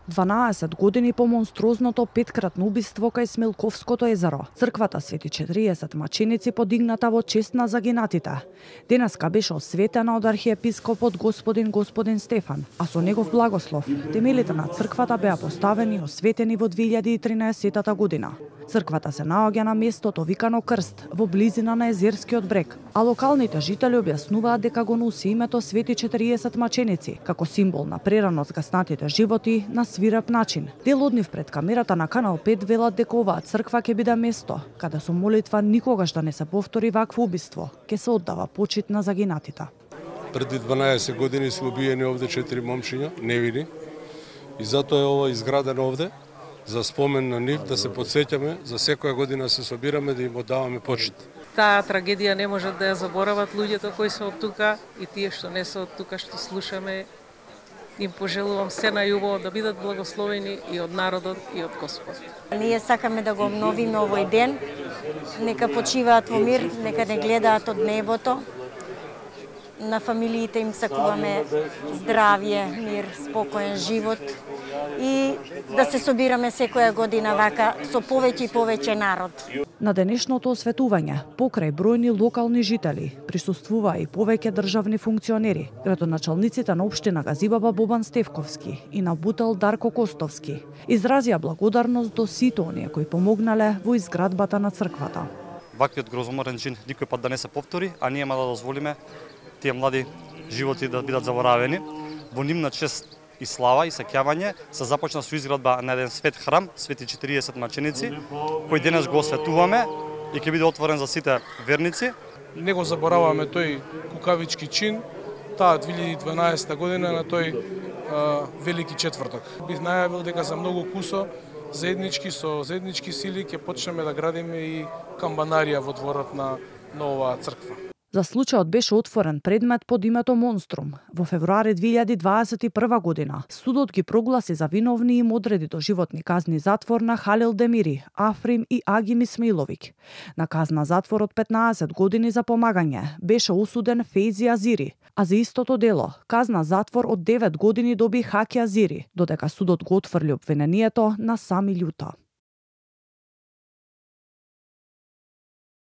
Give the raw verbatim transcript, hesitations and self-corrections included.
дванаесет години по монструозното петкратно убиство кај Смилковското езеро, црквата Свети четириесет маченици подигната во чест на загинатите. Денеска беше осветена од архиепископот господин господин Стефан, а со негов благослов темелите на црквата беа поставени и осветени во две илјади и тринаесетта година. Црквата се наоѓа на местото викано Крст, во близина на Езерскиот брег, а локалните жители објаснуваат дека го носи името Свети четириесет маченици, како символ на прерано згаснатите животи на свиреп начин. Дел од нив пред камерата на Канал пет велат дека оваа црква ќе биде место каде со молитва никогаш да не се повтори вакво убиство, ќе се оддава почит на загинатите. Преди дванаесет години се убиени овде четири момчиња, невини, и затоа е ова изградено овде, за спомен на нив, да се подсеќаме, за секоја година се собираме да им оддаваме почит. Таа трагедија не можат да ја заборават луѓето кои се од тука и тие што не се од тука што слушаме. Им пожелувам се најубаво да бидат благословени и од народот и од Господ. Ние сакаме да го обновиме овој ден. Нека почиваат во мир, нека не гледаат од небото. На фамилиите им сакуваме здравје, мир, спокоен живот и да се собираме секоја година вака со повеќе и повеќе народ. На денешното осветување, покрај бројни локални жители, присуствуваа и повеќе државни функционери, градоначалниците на општина Газибаба Бобан Стевковски и на Бутел Дарко Костовски, изразија благодарност до сите оние кои помогнале во изградбата на црквата. Ваквиот грозоморен чин никој пат да не се повтори, а ние ма да дозволиме тие млади животи да бидат заборавени. Во нивна чест и слава и сеќавање се започна со изградба на еден свет храм, Свети четириесет маченици, кој денес го осветуваме и ќе биде отворен за сите верници. Не го забораваме тој кукавички чин, таа две илјади и дванаесетта година на тој а, велики четврток. Бих најавил дека за многу кусо заеднички со заеднички сили ќе почнеме да градиме и камбанарија во дворот на новаа црква. За случајот беше отворен предмет под името Монструм. Во февруари две илјади дваесет и прва година судот ги прогласи за виновни и им одреди доживотни казни затвор на Халил Демири, Африм и Агим Исмаиловиќ. На казна затвор од петнаесет години за помагање беше осуден Фейзи Азири, а за истото дело казна затвор од девет години доби Хаки Азири, додека судот го отфрли обвинението на Сами Љута.